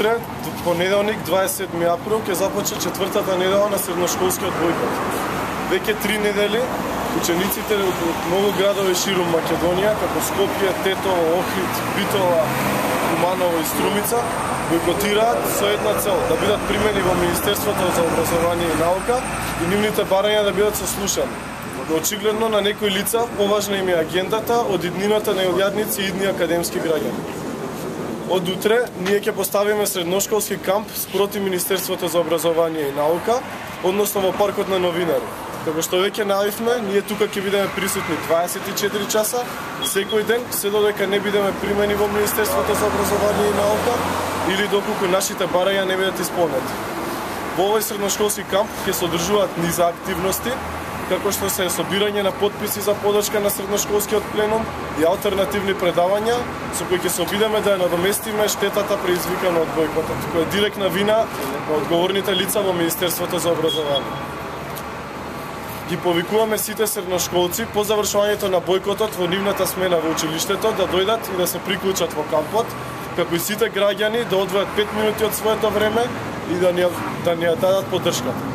утре, понеделник, 27 април, ќе започне 4-та недела на средношколскиот бојкот. Веќе 3 недели учениците од многу градови ширум Македонија, како Скопје, Тетово, Охрид, Битола, Куманово и Струмица, бојкотираат со една цел, да бидат примени во Министерството за образование и наука и нивните барања да бидат сослушани. Но очигледно на некои лица поважна им е агендата од иднината на илјадници и идни академски граѓани. Од утре ние ќе поставиме средношколски камп спроти Министерството за образование и наука, односно во паркот на Новинари. Како што веќе најавивме, ние тука ќе бидеме присутни 24 часа, секој ден, се додека не бидеме примени во Министерството за образование и наука или доколку нашите барања не бидат исполнети. Во овој средношколски камп ќе се одржуваат низа активности, како што се собирање на потписи за подршка на средношколскиот пленум и алтернативни предавања, со кои ќе се обидеме да ја надоместиме штетата предизвикана од бојкотот, која е директна вина на одговорните лица во Министерството за образование. Ги повикуваме сите средношколци по завршувањето на бојкотот во нивната смена во училиштето да дојдат и да се приклучат во кампот, како и сите граѓани да одвојат 5 минути од своето време и да ни ја дадат поддршката.